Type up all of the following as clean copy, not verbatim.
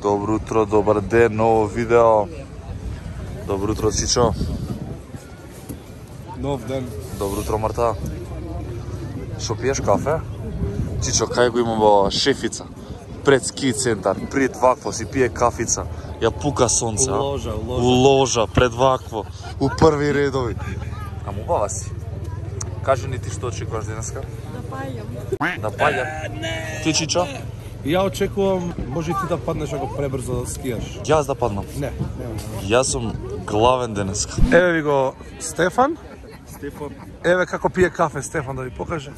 Добро утро, добар ден, ново видео. Добро утро, Чичо. Нов ден. Добро утро, Марта. Шо пиеш кафе? Чичо, кај го имам во шефица? Пред ски центар, пред вакво си пие кафица. Ја пука сонце, у ложа, пред вакво, у први редови. А мубава си. Кажи ни ти што очекуваш денеска? Да пајам. Да пајам? Ти, Чичо? Ја очекувам, може и ти да паднеш ако пребрзо да скијаш. Јас да паднам? Не. Јас сум главен денеска. Еве ви го Стефан. Еве како пие кафе Стефан, да ви покаже.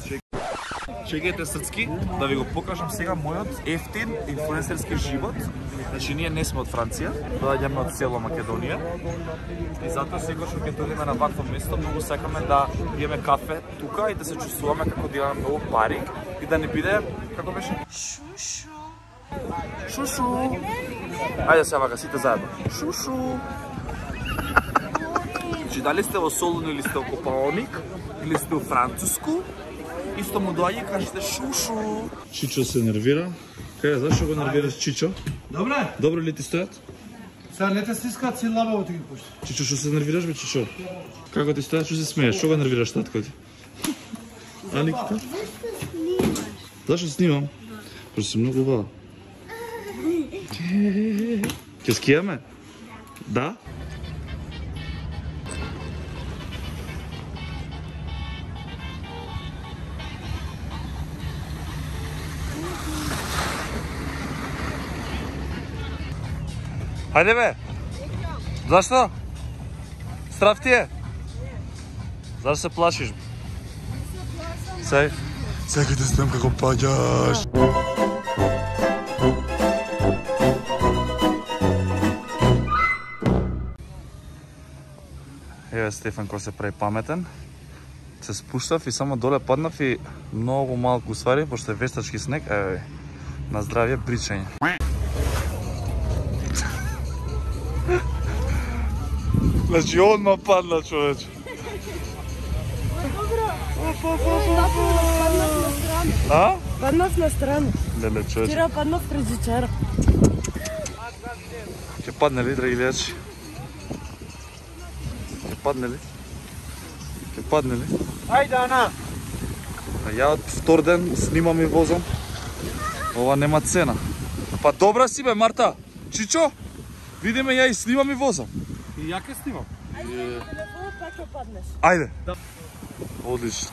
Чекајте срцки, да ви го покажам сега мојот ефтин инфлуенсерски живот. Значи, ние не сме од Франција, доаѓаме од село Македонија. И затоа секогаш кога ќе дојдеме на вакво место, многу сакаме да пиеме кафе тука и да се чувствуваме како да имаме многу пари и да не биде, како беше? Шушу. Шушу. Ајде се вака сите заедно. Шушу. Значи, дали сте во Солун или сте во Копаоник, или сте во Француску, исто му доаѓа и кажете шушу. Чичо се нервира. Кај, зашто го нервираш, Чичо? Добре. Добро ли ти стојат? Сега не те стискаат си лабаво ти ги пушти. Чичо, што се нервираш, бе, Чичо? Како ти стојат, што се смееш? Што го нервираш, татко ти? А, Никита? Зашто снимам? Пошто си многу убава. Ке скијаме? Да? Хајде бе! Зашто? Страв ти е? Зашто се плашиш? Сега те снем како паѓаш. Еве Стефан кој се прави паметен. Се спуштав и само доле паднав и многу малку ствари, пошто е вештачки снег, еве, на здравје бричање. Значи, одма падна, човече. А? Паднав на страна. Леле, човече. Вчера паднав презичара. Ќе падне ли, драги гледачи? Ќе падне ли? Ќе падне ли? Ајде, Ана! А ја од втор ден снимам и возам. Ова нема цена. Па добра си бе, Марта. Чичо, видиме ја и снимам и возам. И ја ке снимам. Ајде, па ќе паднеш. Ајде. Одлично.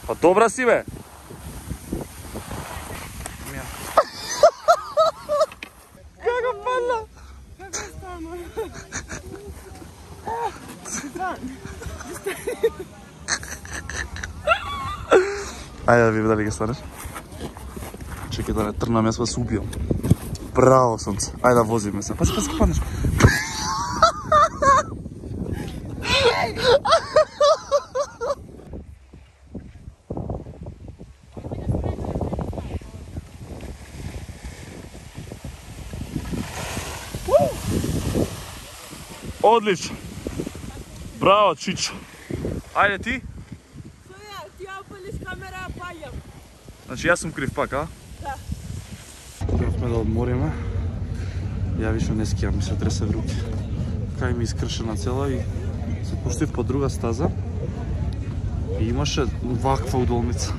Па добра си бе. Како падна? Како стана? Ајде да видим дали ќе станеш. Чекај да не трнам, јас вас убијам. Браво, сонце. Ајде да возиме се. Пази, пази, паднеш. Одлично. Браво, Чичо. Ајде ти. Ти опалиш камера, пајам. Значи јас сум крив пак, а? Да. Требавме да одмориме. Ја више не скијам, ми се тресе в руки. Кај ми искршена цела и се пуштив по друга стаза. И имаше ваква удолница.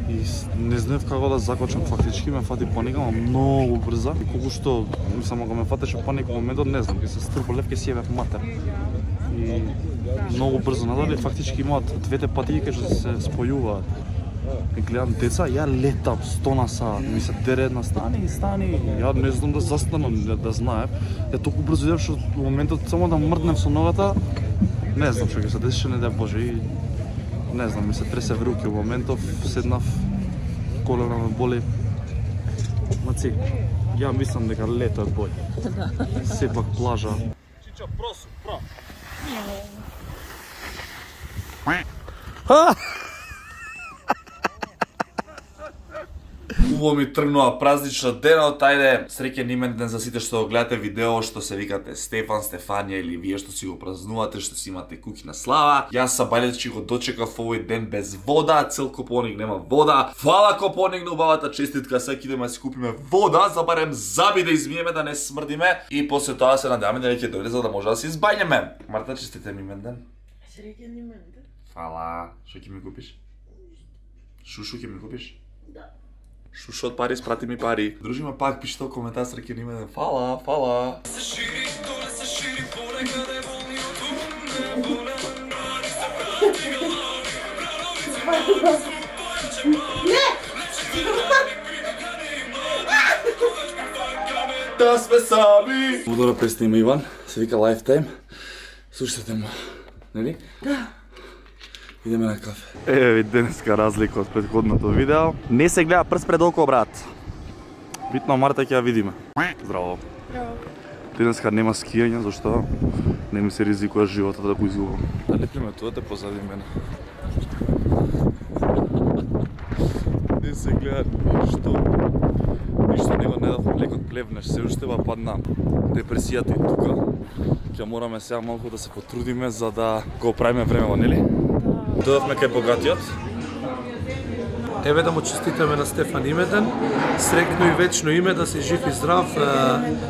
И не знаев како да закочам, фактички ме фати паника, ама многу брза. И колку што, само го ме фатеше паника во моментот, не знам, ке се стрпа лев, ке си јавев матер. И многу брзо надале, фактички имаат двете патики што се спојуваат. И гледам деца, ја летам 100 на сат, ми се дере една стани, ја не знам да застанам, да знаев. Ја толку брзо идев што во моментот само да мрднев со ногата, не знам што ќе се десише, не дај Боже, и не знам, ми се тресе в руки, во моментов седнав, колена ме боли. Маци, ја мислам дека лето е боље. Сепак плажа. Чичо, просу, про. Убаво ми тргнува празнично денот, ајде, среќен именден за сите што го гледате видео, што се викате Стефан, Стефанија или вие што си го празнувате, што си имате куќна на слава. Јас са Балјачи го дочекав овој ден без вода, цел Копоник нема вода. Фала Копоник на убавата честитка, сега идеме да си купиме вода, за барем заби да измиеме, да не смрдиме и после тоа се надеваме да ќе дојде за да може да се избањеме. Марта, честитен именден. Среќен именден. Фала. Што ќе ми купиш? Шушу ќе ми купиш? Да. Шушу од пари, спрати ми пари. Дружиме пак, пишете во коментар среќен именден. Фала, фала. Да сме сами. Удора преснима Иван, се вика Lifetime. Слушате му, нели? Да. Идеме на кафе. Еве ви денеска разлика од претходното видео. Не се гледа прст пред око, брат. Битно Марта ќе ја видиме. Здраво. Здраво. Денеска нема скијање, зашто не ми се ризикува животот да го изгубам. Да лепиме тоа те позади мене. Не се гледа ништо. Ништо него не дав лекот плевнеш, се уште ба падна депресијата и тука. Ќе мораме сега малку да се потрудиме за да го правиме времево, нели? Дојавме кај богатиот. Еве да му честитаме на Стефан имеден, среќно и вечно име, да си жив и здрав,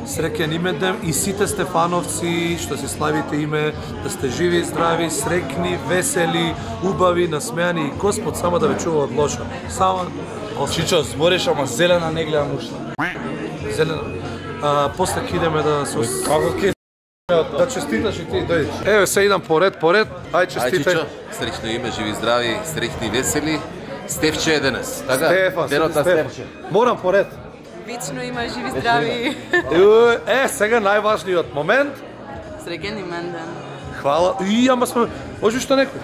среќен имеден и сите Стефановци што си славите име, да сте живи и здрави, среќни, весели, убави, насмеани и Господ само да ве чува од лошо. Само Чичо, збориш, ама зелена не гледам уште. зелено. После ќе идеме да со Како ке? да честиташ и ти дојдеш. Еве се идам поред. Ај честитај. Среќно име, живи здрави, среќни и весели. Стефче е денес, така? Стефан, Денот на Стефан. Стефче. Морам поред. Вечно има живи здрави. Сега најважниот момент. Среќен именден. Хвала. Ама сме... Може што некој?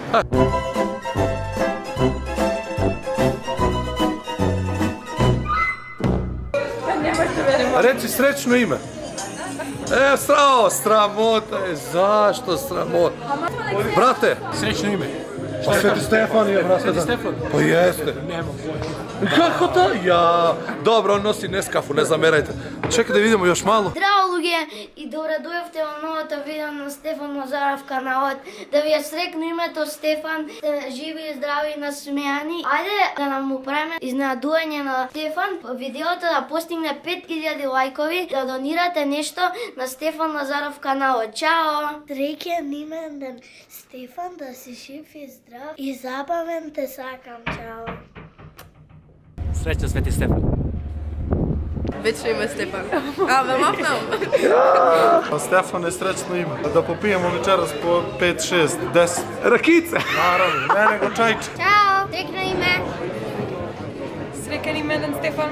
Речи среќно име. Срамота е. Зашто срамота? Брате, Среќно име. Свети Стефан е, брате. Свети Стефан? Па јесте. Нема. Како та? Ја, добро, носи нескафу, не замерајте. Чекај да видиме још мало. Здраво луѓе и добре дојавте во новото видео на Стефан Назаров каналот. Да ви е среќно името Стефан, живи и здрави и насмеани. Ајде да нам правиме изненадување на Стефан, видеото да постигне 5000 лајкови, да донирате нешто на Стефан Назаров каналот. Чао! Среќен именден Стефан, да си жив и здрав и забавен те сакам. Чао! Среќен Свети Стефан. Вечно име Стефан. Ме мафнам. Стефан е среќно име. Да попијемо вечерас по 5, 6, 10. Ракица! Наравно, не него чајче. Чао! Среќно име! Среќен именден Стефан.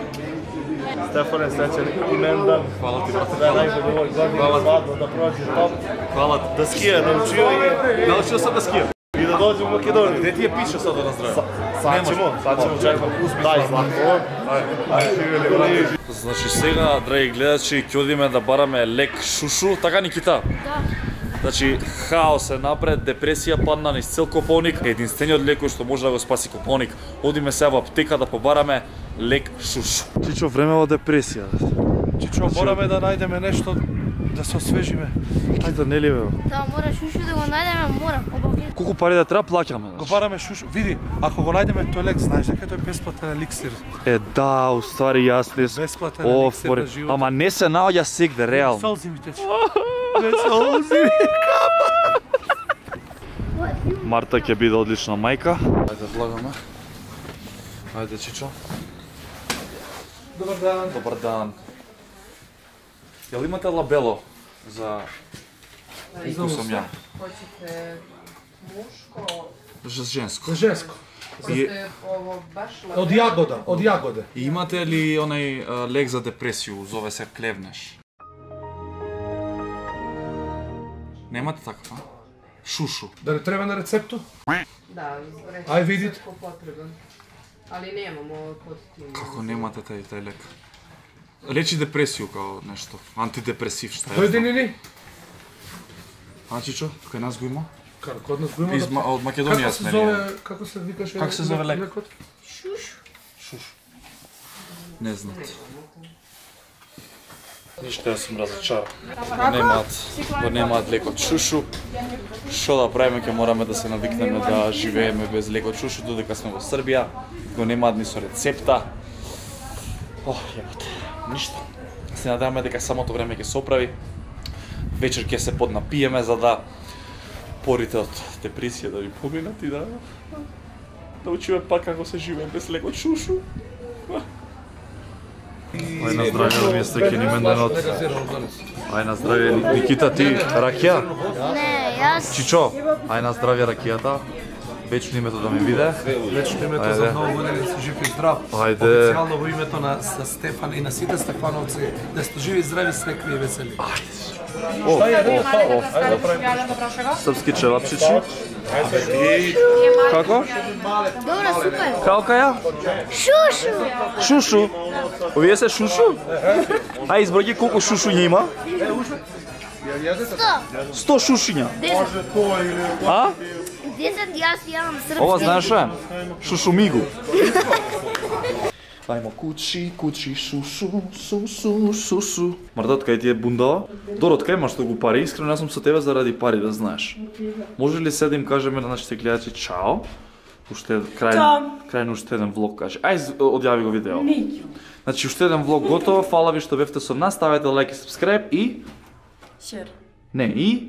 Стефан е среќен именден. Хвала ти, брате. Да е најголи овој година свадба да проđe топ. Хвала ти. Да скија, научио и... Научил sam da skijam. И да доđe у Македонија. Где ти je piše sad da nazdravim? Sad ćemo, čekam. Дај, Златко. Ајде. Значи сега, драги гледачи, ќе одиме да бараме лек шушу, така Никита? Да. Значи, хаос е напред, депресија падна низ цел Копоник, единствениот лек што може да го спаси Копоник. Одиме сега во аптека да побараме лек шушу. Чичо, време во депресија. Чичо, мораме да најдеме нешто да се освежиме. Ајде, нели бе? Да, мора шушу да го најдеме, мора. Обавлено. Колку пари да треба плаќаме? Го бараме шушу. Види, ако го најдеме тој лек, знаеш дека тој е бесплатен еликсир. Да, уствари јас не Бесплатен еликсир на живот. Ама не се наоѓа сегде, реално. Солзи ми тече. Солзи ми капа. Марта ќе биде одлична мајка. Ајде, влагаме. Ајде, Чичо. Добар дан. Добар дан. Јел имате лабело за колку сум ја? Hoćete muško, За женско. За женско. И, ovo baš Од јагода, од јагоде. и имате ли онај лек за депресију, зове се клевнеш? Немате таква? Шушу. Да не треба на рецепту? Da, Aj, vidite. ko potreban. Ali nemamo kod tim. Како немате тај лек? Лечи депресију као нешто, антидепресив, што е? Дојди ни. А, Чичо, кај нас го има? Код нас го има. Од Македонија сме ние. Како се викаше? Како се зове лек? Шуш. Шуш. Не знат. Ништо, јас сум разочаран. Го немаат лекот шушу. Што да правиме, ќе мораме да се навикнеме да живееме без лекот шушу, додека сме во Србија. Го немаат ни со рецепта. Јебате, ништо. Се надеваме дека самото време ќе се оправи. Вечер ќе се поднапиеме за да порите од депресија да ви поминат и да учиме пак како се живее без лекот шушу. Ај на здравје да ми е Среќен именденот. Ај на здравје Никита, ти ракија? Не, јас... Чичо, ај на здравје ракијата. Вечно името да ме виде. Вечно името за многу години да си жив и здрав. Ајде. Официјално во името на Стефан и на сите Стефановци да сте живи, здрави, срекни и весели. Српски чевапчичи. Како? Добро, супер. Калка ја? Шушу! Шушу? Овие се шушу? Ај изброји колку шушуња има? 100 шушуња. 10. А? 10 јас јадам српски. Ова знаеш што е? Шушумигу. Ајмо кучи, шушу, сусу. Мардот, кај ти е бундава? Дорот, кај имаш толку пари? Искрено, јас сум со тебе заради пари, да знаеш. Може ли се да им кажеме на нашите гледачи чао? Уште крај на уште еден влог каже. Ај, одјави го видео. Значи, уште еден влог готово. Фала ви што бевте со нас. Ставете лайк и сабскрајб и... Шер. Не, и...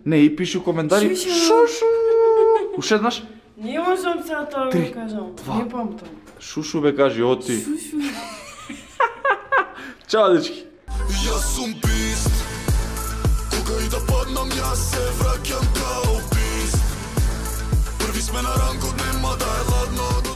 Не, и пиши у коментари... Шушу! Уште еднаш? Не можам се тоа да кажам. Не памтам. Шушу бе кажи, оти. Шушу. Чао, дечки. Јас сум бист. Кога и да паднам, јас се враќам као бист. Први сме на рангот, нема да е ладно.